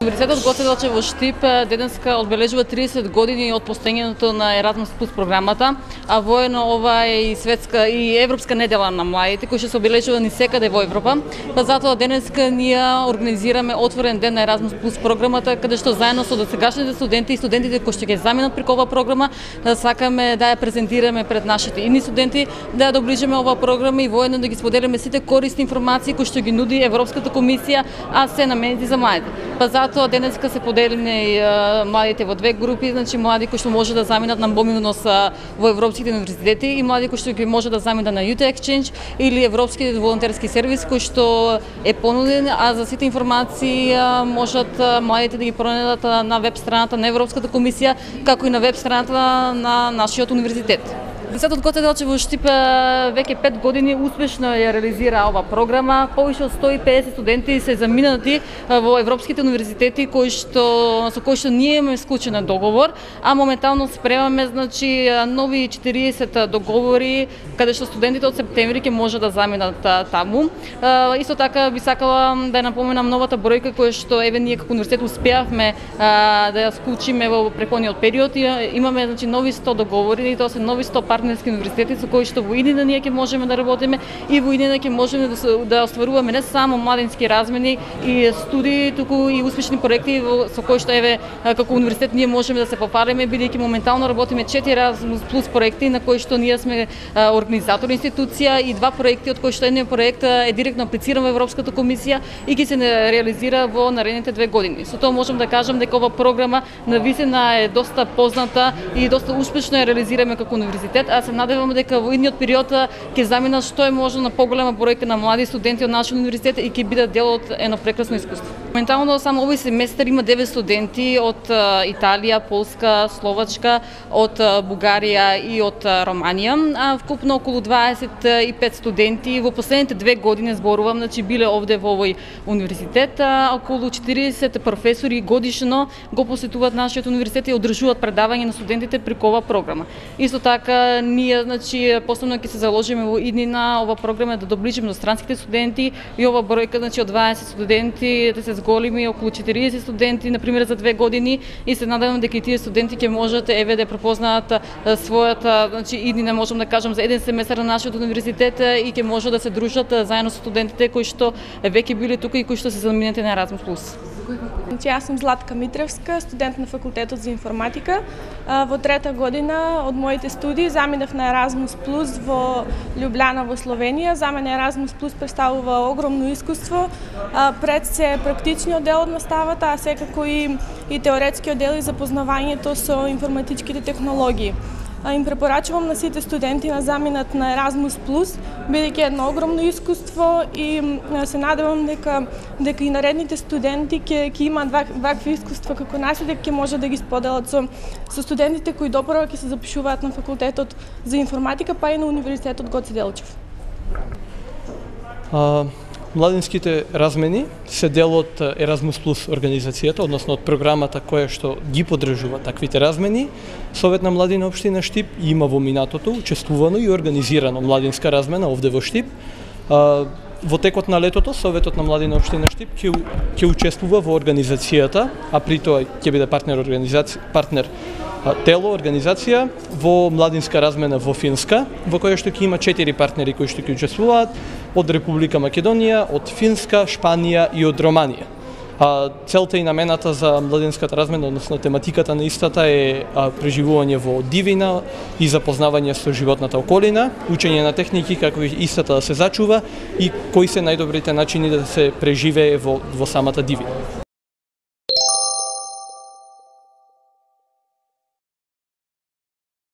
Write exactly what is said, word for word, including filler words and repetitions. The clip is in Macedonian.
Универзитетот Гоце Делчев во Штип денеска одбележува триесет години од постоењето на Еразмус плюс програмата, а воено ова е и светска и европска недела на младите, кои што се обележува ни секаде во Европа. Па затоа денеска ние организираме отворен ден на Еразмус плюс програмата, каде што заедно со досегашните студенти и студентите кои што ќе заминат преку оваа програма, сакаме да ја презентираме пред нашите идни студенти, да ја доближиме оваа програма и воедно да ги споделиме сите корисни информации кои што ги нуди Европската комисија, а се наменети за младите. Па затоа денеска се поделени младите во две групи, значи млади кои што може да заминат на мобилност во европските универзитети и млади кои што ги може да заминат на Youth Exchange или европски волонтерски сервис кој што е понуден, а за сите информации можат младите да ги пронајдат на веб страната на Европската комисија, како и на веб страната на нашиот универзитет. Универзитетот Гоце Делчев во Штип веќе пет години успешно ја реализира оваа програма. Повеќе од сто и педесет студенти се заминати во европските универзитети кои што со кои што ние имаме склучен договор, а моментално спремаме значи нови четириесет договори каде што студентите од септември ќе може да заминат таму. Исто така би сакала да ја напоменам новата бројка која што еве ние како универзитет успеавме да ја склучиме во претходниот период. Имаме значи нови сто договори и тоа се нови сто партнерски универзитети со кои што во иднина ние ќе можеме да работиме и во иднина ќе можеме да, да остваруваме не само младински размени и студии, туку и успешни проекти со кои што еве како универзитет ние можеме да се пофалиме, бидејќи моментално работиме четири Еразмус плюс проекти на кои што ние сме организатор институција и два проекти од кои што едниот проект е директно аплициран во Европската комисија и ќе се реализира во наредните две години. Со тоа можам да кажам дека ова програма навистина е доста позната и доста успешно ја реализираме како универзитет. А се надевам дека во идниот период ќе заминат што е можно на поголема бројка на млади студенти од нашиот универзитет и ќе бидат дел од едно прекрасно искуство. Моментално само овој семестар има девет студенти од Италија, Полска, Словачка, од Бугарија и од Романија, а вкупно околу дваесет и пет студенти во последните две години зборувам, значи биле овде во овој универзитет, околу четириесет професори годишно го посетуваат нашиот универзитет и одржуваат предавања на студентите преку оваа програма. Исто така ние значи посебно ќе се заложиме во иднина ова програма да доближиме до странските студенти и ова бројка значи од дваесет студенти да се зголеми околу четириесет студенти на пример за две години и се надевам дека и тие студенти ќе можат еве да препознаат својата значи иднина можам да кажам за еден семестар на нашиот универзитет и ќе можат да се дружат заедно со студентите кои што веќе биле тука и кои што се заминати на Еразмус плюс. Значи, јас сум Златка Митревска, студент на факултетот за информатика. Во трета година од моите студии заминав на Еразмус плюс во Љубљана во Словенија. За мене Еразмус плюс представува огромно искуство, пред се практичниот дел од наставата, а секако и, и теоретскиот дел и запознавањето со информатичките технологии. Им препорачувам на сите студенти на заминат на Еразмус плюс, бидејќи едно огромно искуство и се надевам дека дека и наредните студенти ќе ќе имаат вакви искуства како нас и дека ќе може да ги споделат со со студентите кои допрва ќе се запишуваат на факултетот за информатика, па и на Универзитетот Гоце Делчев. А... Младинските размени се дел од Еразмус плюс организацијата, односно од програмата која што ги поддржува таквите размени. Совет на млади на општина Штип има во минатото учествувано и организирано младинска размена овде во Штип. Во текот на летото Советот на млади на општина Штип ќе ќе учествува во организацијата, а при тоа ќе биде партнер организација, партнер тело, организација во младинска размена во Финска, во која што ќе има четири партнери кои што ќе учествуваат од Република Македонија, од Финска, Шпанија и од Романија. А, целта и намената за младинската размена, односно тематиката на истата е а, преживување во дивина и запознавање со животната околина, учење на техники како истата да се зачува и кои се најдобрите начини да се преживее во, во самата дивина.